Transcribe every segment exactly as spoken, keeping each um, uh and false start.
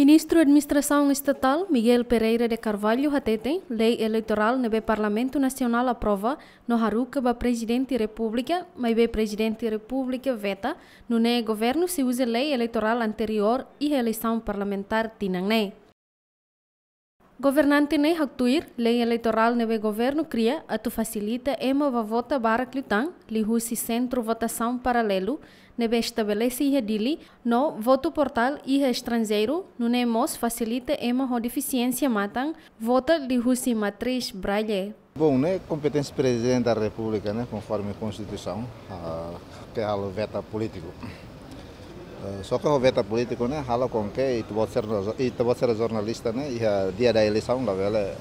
Ministru Administrasaun Estatál, Miguel Pereira de Carvalho, hateten lei eleitorál ne'ebé Parlamentu Nasionál aprova no haruka ba Prezidente Repúblika, maibé Prezidente Repúblika veta, nune'e governu sei uza lei eleitorál anteriór iha eleisaun parlamentár tinan ne'e. Governante ne'e haktuir, lei eleitorál ne'ebé governu kria atu fasilita ema bá vota barak liután, liuhusi sentru votasaun paralelu ne'ebé estabelese iha Dili, no votu portál iha estranjeiru, nune'e mós fasilita ema ho defisiénsia matan vota liuhusi matriz Braille. Bom, ne'e kompeténsia Prezidente da Repúblika, ne'e, konforme Konstituisaun, ah, ke halo veta polítiku. Eh, só ke halo veta polítiku ne'e halo com que ita-boot sira, ita-boot sira jornalista ne'e, iha dia da eleisaun labele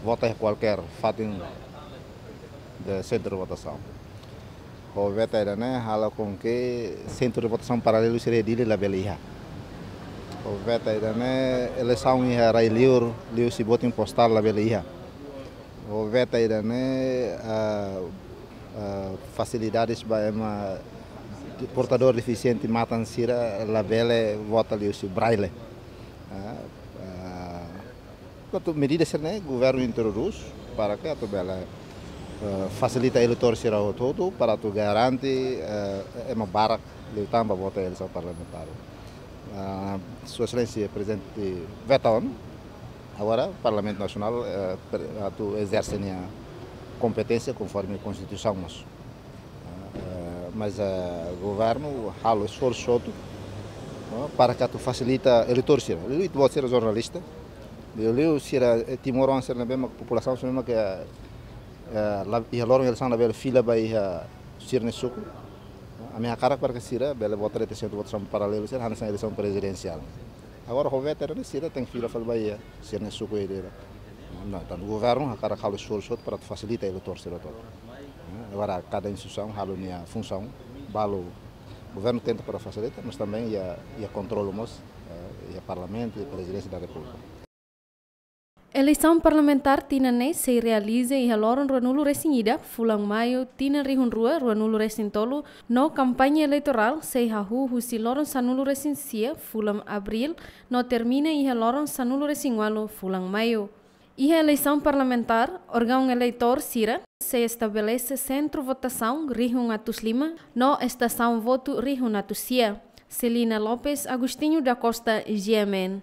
vota iha kualkér fatin de sentru votasaun. Ho veta ida-ne'e halo com que sentru de votasaun paralelu sira iha Dili labele iha. Ho veta ida-ne'e eleisaun iha rai-liur, liuhusi botin postál labele iha. Ho veta ida-ne'e, ah, ah, fasilidades ba ema portadór defisiente matan sira labele vota liuhusi Braille. Ah, ah, portantu, medida sira-ne'e governu introdús para ke atu bele, eh, fasilita eleitór sira hotu-hotu, para atu garante, eh, ema barak liután bá vota eleisaun parlamentár. Ah, Sua Exelénsia Prezidente veta ona, agora Parlamentu Nasionál, eh, pre-, atu ezerse nia kompeténsia konforme Konstituisaun mós. Eh, mas, eh, governu halo esforsu hotu, no, para ke atu fasilita eleitór sira. Liuliu ita-boot sira jornalista, liuliu sira, eh, timoroan sira ne'ebé mak populasaun sira ne'ebé mak, eh, eh, la, iha loron eleisaun labele fila bá iha sira-nia suku. Ami hakarak para ke sira bele vota iha sentru votasaun paralelu sira hanesan eleisaun prezidensiál. Agora ho veta ne'e sira tenke fila fali bá iha sira-nia suku ida-idak. Entaun, governu hakarak halo esforsu hotu para fasilita eleitór sira hotu. Eh, agora kada instituisaun halo nia funsaun, balu governu tenta para fasilita, mas também iha, iha kontrolu mós, eh, iha Parlamentu, iha Prezidénsia da Repúblika. Eleisaun parlamentár tinan ne'e sei realiza iha loron ruanulu-resin-ida, fulan Maiu, tinan rihun rua ruanulu-resin-tolu, no kampaña eleitorál sei hahú husi loron sanulu-resin-sia, fulan Abríl, no termina iha loron sanulu-resin-ualu, fulan Maiu. Iha eleisaun parlamentár, órgaun eleitór sira sei estabelese sentru votasaun rihun atus lima no estasaun votu rihun atus sia. Celina Lopes, Agostinho da Costa, G M N.